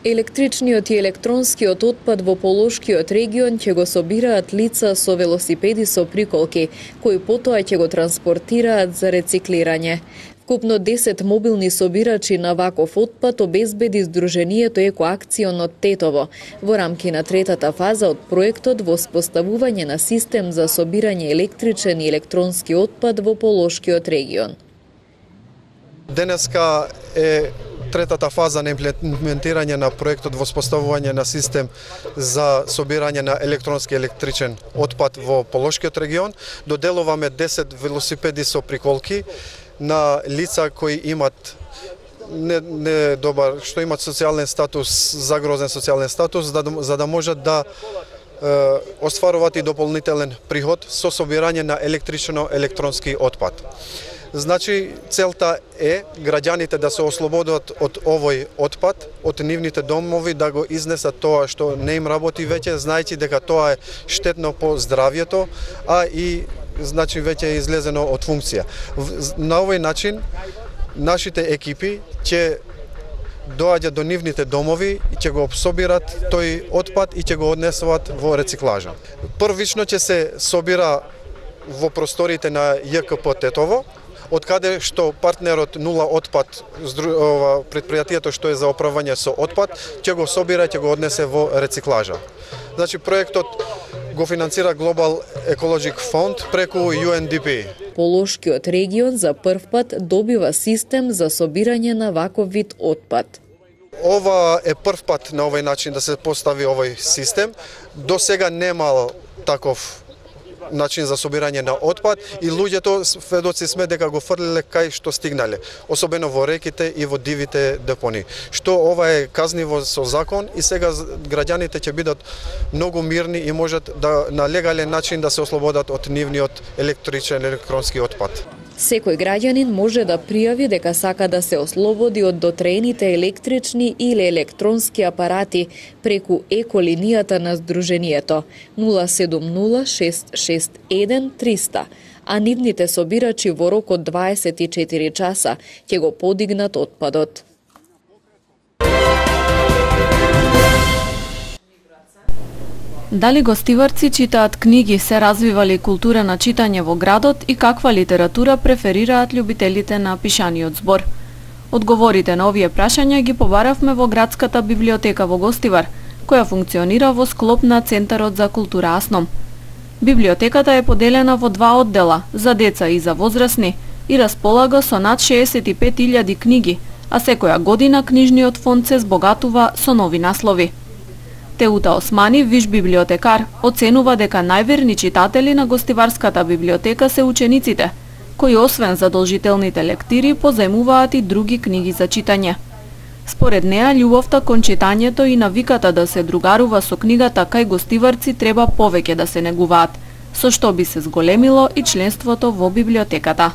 Електричниот и електронскиот отпад во Полошкиот регион ќе го собираат лица со велосипеди со приколки, кои потоа ќе го транспортираат за рециклирање. Вкупно 10 мобилни собирачи на ваков отпад обезбеди Сдруженијето Екоакцион од Тетово во рамки на третата фаза од проектот во споставување на систем за собирање електричен и електронски отпад во Полошкиот регион. Денеска е третата фаза на имплементирање на проектот во споставување на систем за собирање на електронски и електричен отпад во Полошкиот регион. Доделуваме 10 велосипеди со приколки на лица кои имат недобар, што имат социјален статус, загрозен социјален статус, за да можат да остваруваат и дополнителен приход со собирање на електрично-електронски отпад. Значи, целта е граѓаните да се ослободат од овој отпад, од нивните домови, да го изнесат тоа што не им работи веќе, знаејќи дека тоа е штетно по здравјето, а и значи веќе е излезено од функција. На овој начин нашите екипи ќе доаѓаат до нивните домови и ќе го собират тој отпад и ќе го однесуваат во рециклажа. Првично ќе се собира во просториите на ЈКП Тетово, од каде што партнерот Нула отпад, предпријатието што е за управување со отпад, ќе го собира и ќе го однесе во рециклажа. Значи, проектот го финансира Global Ecologic Fund преку UNDP. Полошкиот регион за прв пат добива систем за собирање на ваков вид отпад. Ова е прв пат на овој начин да се постави овој систем. До сега немал таков начин за собирање на отпад и луѓето сведоци сме дека го фрлиле кај што стигнале, особено во реките и во дивите депони. Што ова е казниво со закон и сега граѓаните ќе бидат многу мирни и можат да на легален начин да се ослободат од нивниот електричен електронски отпад. Секој граѓанин може да пријави дека сака да се ослободи од дотрените електрични или електронски апарати преку еколинијата на Сдруженијето 070-661-300, а нивните собирачи во рок од 24 часа ќе го подигнат отпадот. Дали гостиварци читаат книги, се развива ли култура на читање во градот и каква литература преферираат љубителите на пишаниот збор? Одговорите на овие прашања ги побаравме во градската библиотека во Гостивар, која функционира во склоп на Центарот за култура Асном. Библиотеката е поделена во два оддела, за деца и за возрастни, и располага со над 65.000 книги, а секоја година книжниот фонд се збогатува со нови наслови. Теута Османи, виш библиотекар, оценува дека најверни читатели на Гостиварската библиотека се учениците, кои освен задолжителните лектири позајмуваат и други книги за читање. Според неа, љубовта кон читањето и навиката да се другарува со книгата кај гостиварци треба повеќе да се негуваат, со што би се зголемило и членството во библиотеката.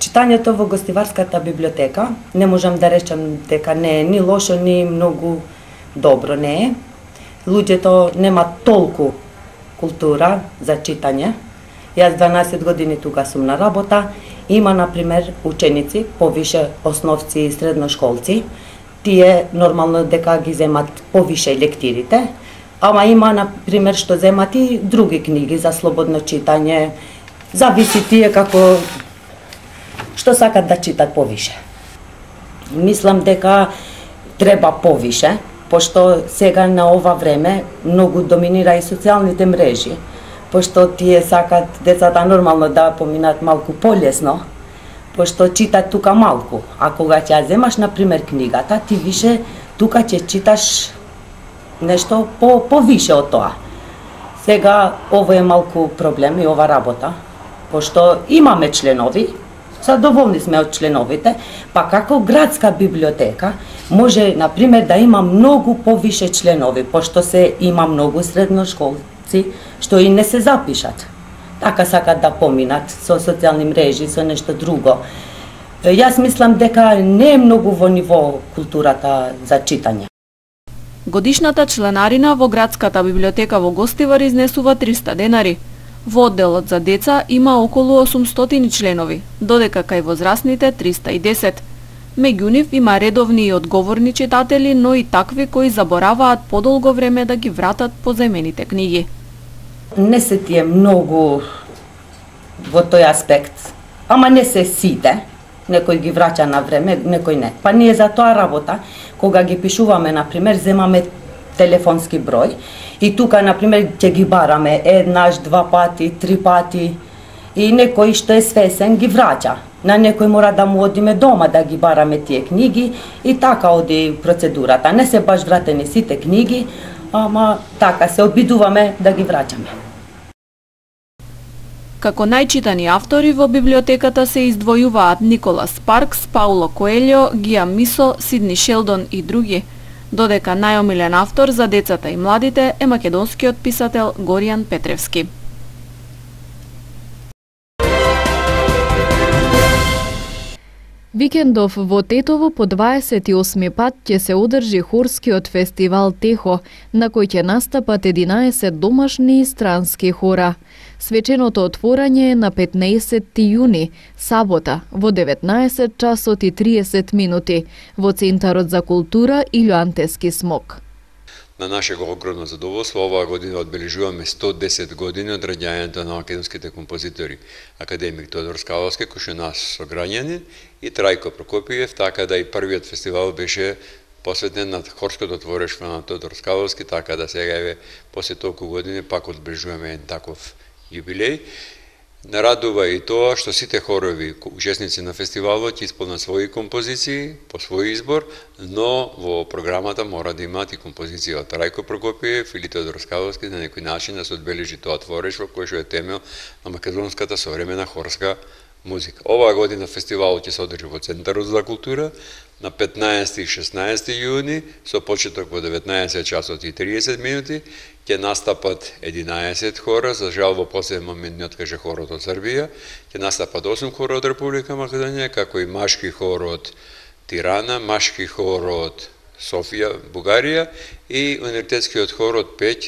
Читањето во Гостиварската библиотека не можам да речам дека не е ни лошо, ни многу добро не е. Луѓето немаат толку култура за читање. Јас 12 години тука сум на работа. Има, например, ученици, повише основци и средношколци. Тие нормално дека ги земат повише лектирите, ама има, например, што земат и други книги за слободно читање. Зависи тие како што сакат да читат повише. Мислам дека треба повише, пошто сега на ова време многу доминира и социјалните мрежи, пошто тие сакат децата нормално да поминат малку полесно, пошто читат тука малку. А кога ќе ја земаш, например, книгата, ти више тука ќе читаш нешто повише од тоа. Сега ово е малку проблем и ова работа, пошто имаме членови, задоволни сме од членовите, па како градска библиотека може, например, да има многу повише членови, пошто се има многу средношколци што и не се запишат. Така сакат да поминат со социјални мрежи, со нешто друго. Јас мислам дека не е многу во ниво културата за читање. Годишната членарина во градската библиотека во Гостивар изнесува 300 денари. Во одделот за деца има околу 800 членови, додека кај возрастните 310. Меѓу нив има редовни и одговорни читатели, но и такви кои забораваат подолго време да ги вратат позаимените книги. Не се тие многу во тој аспект, ама не се сите. Некој ги враќа на време, некој не. Па ние за тоа работа, кога ги пишуваме, например, земаме телефонски број и тука, например, ќе ги бараме еднаш, 2 пати, 3 пати и некој што е свесен ги враќа. На некој мора да му одиме дома да ги бараме тие книги и така оди процедурата. Не се баш вратени сите книги, ама така се обидуваме да ги враќаме. Како најчитани автори во библиотеката се издвојуваат Николас Спаркс, Пауло Коелјо, Гија Мисо, Сидни Шелдон и други, додека најомилен автор за децата и младите е македонскиот писател Горијан Петревски. Викендов во Тетово по 28 пат ќе се одржи хорскиот фестивал Техо, на кој ќе настапат 11 домашни и странски хора. Свеченото отворање е на 15 јуни, сабота, во 19 часот и 30 минути, во Центарот за култура Илјоантески смок. На нашего огромно задоволство, оваа година одбележуваме 110 години од раѓањето на македонските композитори, академик Тодор Скаловски, кој што наш сограѓанин, и Трајко Прокопиев, така да и првиот фестивал беше посветен на хорското творештво на Тодор Скаловски, така да сега еве после толку години пак одбележуваме еден таков јубилеј. Нарадува и тоа што сите хорови учесници на фестивалот ќе исполнат своји композиции по свој избор, но во програмата мора да имаат и композиција од Трајко Прокопиев или Тодор Скаловски, на некој начин да се одбележи тоа творештво кој што е темел на македонската современа хорска музика. Оваа година фестивалот ќе се одржи во Центарот за култура на 15 и 16 јуни со почеток во 19 часот и 30 минути. Ќе настапат 11 хора, за жал во последен момент не откаже хорот од Србија. Ќе настапат 8 хора од Република Македонија, како и машки хор од Тирана, машки хор од Софија, Бугарија и универзитетскиот хор од Пеќ,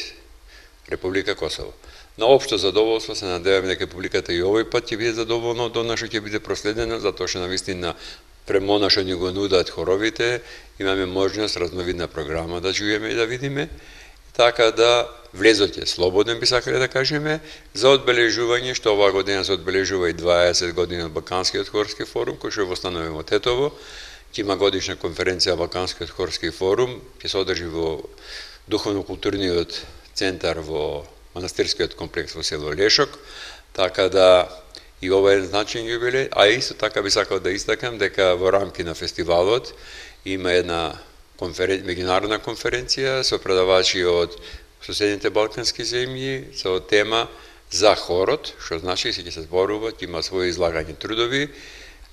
Република Косово. На општо задоволство се надеваме дека публиката и овој пат ќе биде задоволна од она што ќе биде проследено, затоа што навистина премона што ни го нудат хоровите, имаме можност разновидна програма да чуеме и да видиме, така да влезот е слободен, би сакале да кажеме, за одбележување, што оваа година се одбележува и 20 години од Балканскиот хорски форум, кој што востанува во Тетово, ќе има годишна конференција Балканскиот хорски форум, ќе се одржи во духовно-културниот центар во манастирскиот комплекс во село Лешок, така да и ова е значаен јубилеј, а исто така би сакал да истакам дека во рамки на фестивалот има една меѓународна конференција со предавачи од соседните балкански земји со тема за хорот, што значи ќе се зборува, ќе има своји излагања трудови,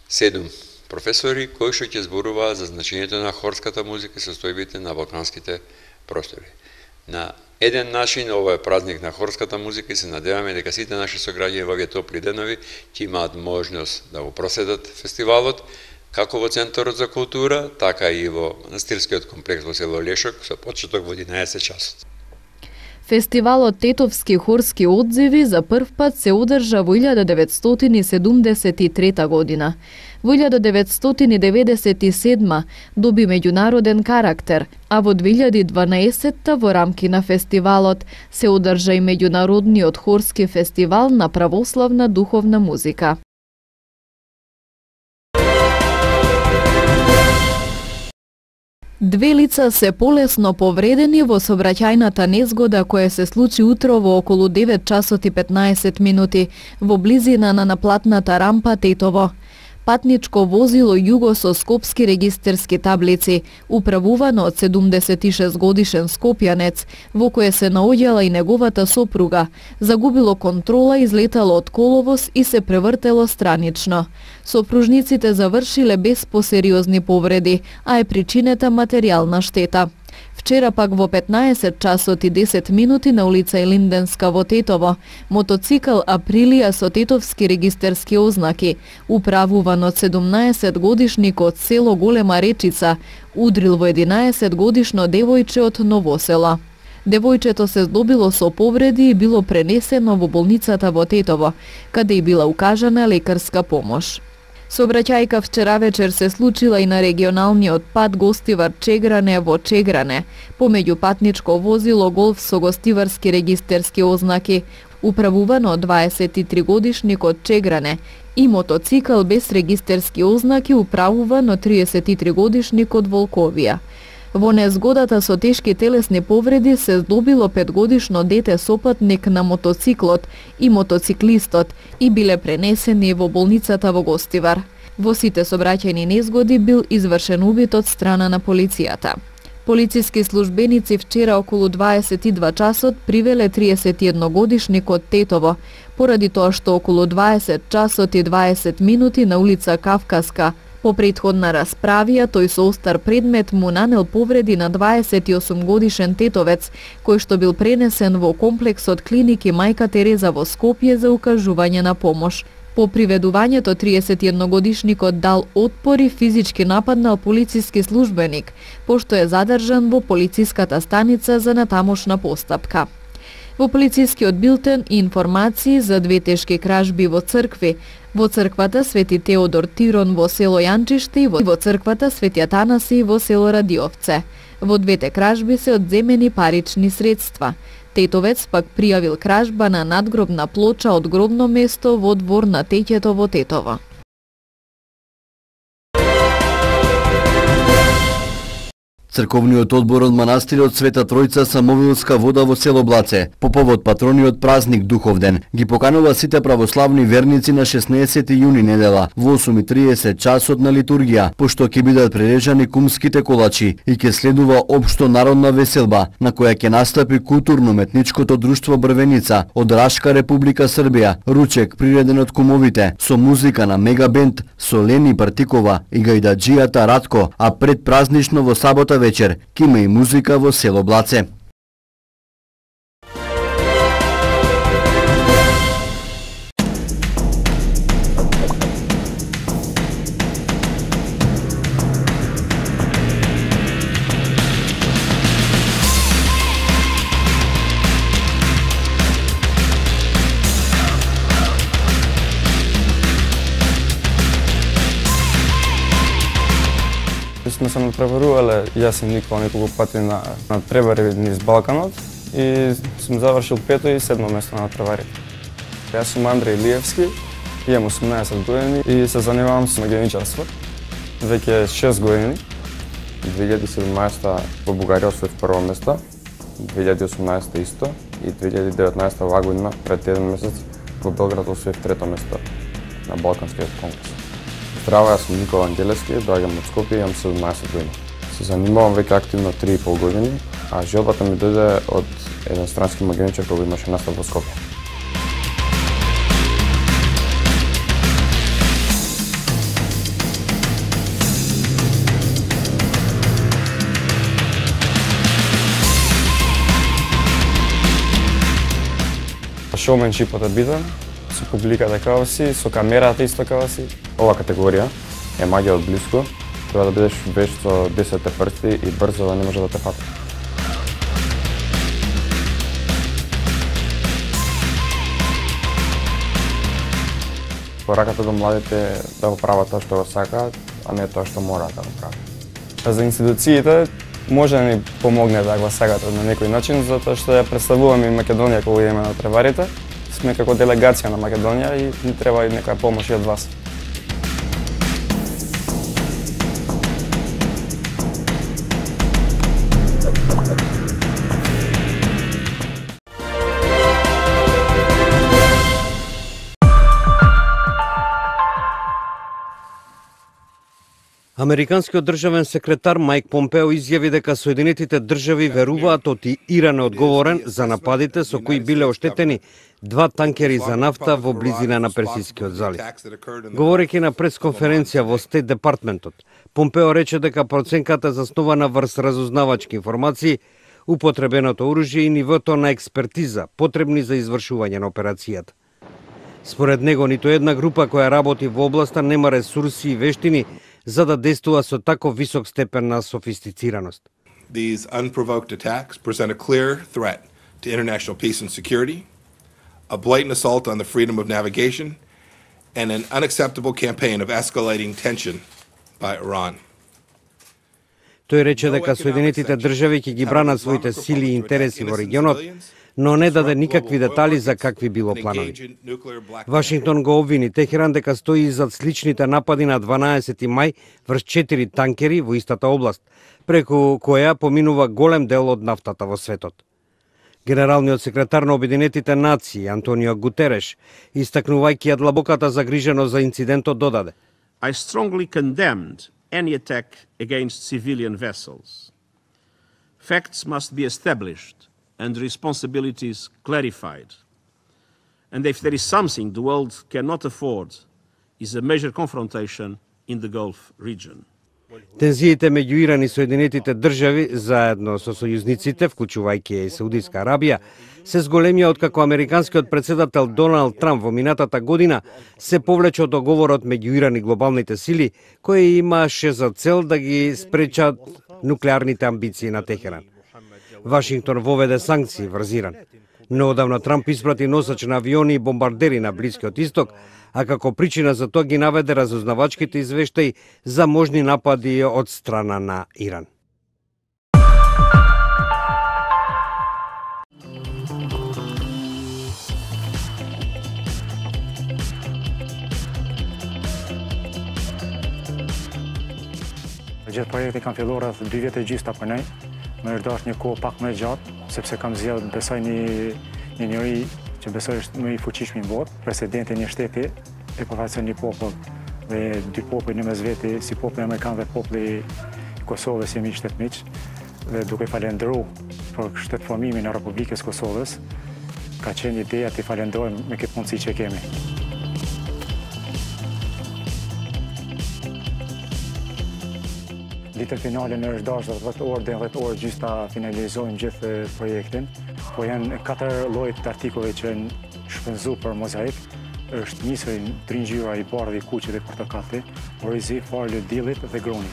7 професори кои што ќе зборуваат за значењето на хорската музика и состојбите на балканските простори. На еден начин ова е празник на хорската музика и се надеваме дека сите наши сограѓани во овие топли денови ќе имаат можност да го проседат фестивалот, како во Центарот за култура, така и во манастирскиот комплекс во село Лешок со почеток во 11 часот. Фестивалот Тетовски хорски одзиви за прв пат се одржа во 1973 година. Во 1997 доби меѓународен карактер, а во 2012 во рамки на фестивалот се одржа и меѓународниот хорски фестивал на православна духовна музика. Две лица се полесно повредени во сообраќајната незгода која се случи утро во околу 9 часот и 15 минути во близина на наплатната рампа Тетово. Патничко возило југо со скопски регистерски таблици, управувано од 76 годишен скопјанец, во кое се наоѓала и неговата сопруга, загубило контрола, излетало од коловоз и се превртело странично. Сопружниците завршиле без посериозни повреди, а е причинета материјална штета. Вчера пак во 15 часот и 10 минути на улица Илинденска во Тетово, мотоцикл Априлија со тетовски регистерски ознаки, управуван од 17 годишник од село Голема Речица, удрил во 11 годишно девојче од Новосела. Девојчето се здобило со повреди и било пренесено во болницата во Тетово, каде и била укажана лекарска помош. Сообраќајка вчера вечер се случила и на регионалниот пат Гостивар-Чегране во Чегране, помеѓу патничко возило Голф со гостиварски регистерски ознаки, управувано од 23-годишникот Чегране, и мотоцикл без регистерски ознаки управуван од 33-годишникот Волковија. Во незгодата со тешки телесни повреди се здобило 5-годишно дете сопатник на мотоциклот и мотоциклистот и биле пренесени во болницата во Гостивар. Во сите сообраќајни незгоди бил извршен убит од страна на полицијата. Полициски службеници вчера околу 22 часот привеле 31-годишникот Тетово, поради тоа што околу 20 часот и 20 минути на улица Кавказска по претходна расправија тој со остар предмет му нанел повреди на 28-годишен тетовец, кој што бил пренесен во комплексот клиники Мајка Тереза во Скопје за укажување на помош. По приведувањето 31-годишникот дал отпор и физички нападнал полициски службеник, пошто е задржан во полициската станица за натамошна постапка. Во полицискиот билтен и информации за 2 тешки кражби во цркви, во црквата Свети Теодор Тирон во село Јанчиште и во црквата Свети Атанаси во село Радиовце. Во 2 кражби се одземени парични средства. Тетовец пак пријавил кражба на надгробна плоча од гробно место во двор на Теќето во Тетово. Црковниот одбор од манастирот Света Тројца Самовилска вода во село Блаце, по повод патрониот празник Духовден, ги поканува сите православни верници на 16 јуни недела во 8:30 часот на литургија, пошто ќе бидат прережани кумските колачи и ќе следува општо народна веселба, на која ќе настапи културно-метничкото друштво Брвеница од Рашка Република Србија, ручек приреден од кумовите, со музика на мегабенд со Лени Партикова и гајдаджијата Радко, а пред празнично во сабота вечер ќе има и музика во село Блаце. Сме се надпреварувале, јас и Никола неколку пати на надпревари низ Балканот и сум завршил 5-то и 7-то место на надпреварите. Јас сум Андреј Илиевски, имам 18 години и се занимавам со магијаничарство. Веќе 6 години. 2017 во Бугарија освоив прво место, 2018 исто и 2019 оваа година пред 1 месец во Белград освоив 3-то место на Балканскиот конкурс. Здраво, јас сум Никола Ангелевски, доаѓам од Скопје и имам 17 години. Се занимавам веќе активно 3,5 години, а желбата ми дојде од еден странски магијаничар кој имаше настап во Скопје. Шоуменшипот е битен, со публиката како си, со камерата исто како си. Ова категорија е магија од блиско, треба да бидеш веш со 10 прсти и брзо да не може да те фати. Пораката до младите да го прават тоа што го сакаат, а не тоа што мораат да го прават. За институциите може да ни помогне да го сакат на некој начин, затоа што ја представуваме и Македонија кога идеме на преварите. Сме како делегација на Македонија и ни треба и некоја помош и од вас. Американскиот државен секретар Мајк Помпео изјави дека Соединетите држави веруваат оти Иран е одговорен за нападите со кои биле оштетени 2 танкери за нафта во близина на Персискиот залив. Говорејќи на пресконференција во Стейт Департментот, Помпео рече дека проценката заснувана врз разузнавачки информации, употребеното оружје и нивото на експертиза потребни за извршување на операцијата. Според него, ниту една група која работи во областа нема ресурси и вештини за да действува со тако висок степен на софистицираност. These unprovoked attacks present a clear threat to international peace and security, a blatant assault on the freedom of navigation, and an unacceptable campaign of escalating tension by Iran. Тој рече дека Соединетите држави ќе ги бранат своите сили и интереси во регионот, но не даде никакви детали за какви било планови. Вашингтон го обвини Техеран дека стои зад сличните напади на 12 мај врз 4 танкери во истата област, преку која поминува голем дел од нафтата во светот. Генералниот секретар на Обединетите нации Антонио Гутереш, истакнувајќи ја длабоката загриженост за инцидентот, додаде: I strongly condemned any attack against civilian vessels. Facts must be established and responsibilities clarified. And if there is something the world cannot afford, is a major confrontation in the Gulf region. Тензиите меѓу Иран и Соединетите држави, заедно со сојузниците, вклучувајќи и Саудиска Арабија, се зголемија откако американскиот председател Доналд Трамп во минатата година се повлече од договорот меѓу Иран и глобалните сили, кој имаше за цел да ги спречат нуклеарните амбиции на Техеран. Вашингтон воведе санкции врз Иран. Неодамна Трамп испрати носач на авиони и бомбардери на Блискиот Исток, а како причина за тоа ги наведе разузнавачките извештаи за можни напади од страна на Иран. Gjithë projekti kam filluar rreth 2 vjet e gjysmë ta punoj. Më është dashur një kohë pak më gjatë, sepse kam zgjedhur besoj një njeri që besoj është më i fuqishëm në botë, presidenti i një shteti e përfaqëson një popull dhe dy popull në mes veti, si populli amerikan dhe populli i Kosovës jemi shtetmiq dhe duke falendëruar për shtetformimin e Republikës Kosovës, ka qenë ideja të falenderojmë me këtë mundësi që kemi. Ditën finale në është dashur 10 orë deri 10 orë gjysmë ta finalizojmë gjithë projektin. Po janë 4 llojet të artikulleve që janë shpenzuar për mozaik. Është nisur tringjyra i bardhë, i kuqit dhe portokalli, orizi, farë, diellit dhe groni.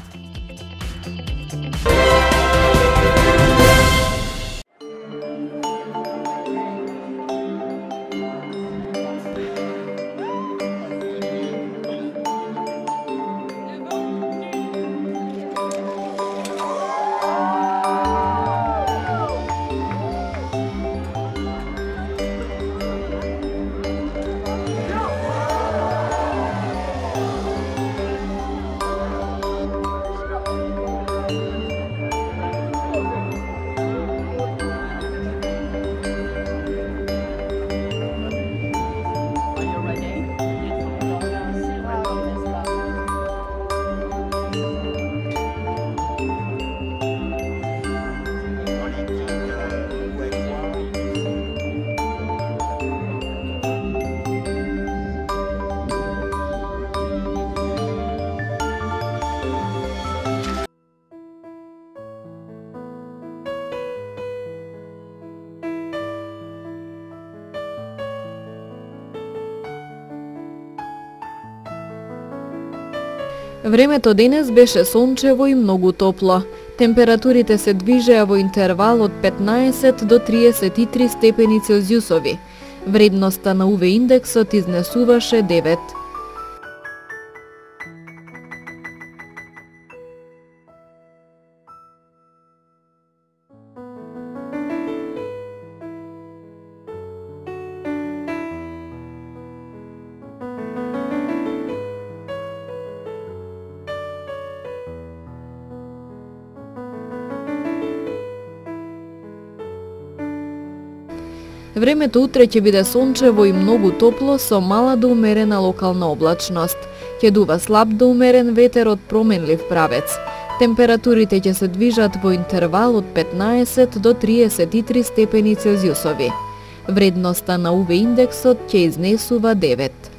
Времето денес беше сончево и многу топло. Температурите се движеа во интервал од 15 до 33 степени Целзиусови. Вредноста на УВ индексот изнесуваше 9. Времето утре ќе биде сончево и многу топло со мала до умерена локална облачност. Ќе дува слаб до умерен ветер од променлив правец. Температурите ќе се движат во интервал од 15 до 33 степени Целзиусови. Вредноста на УВ индексот ќе изнесува 9.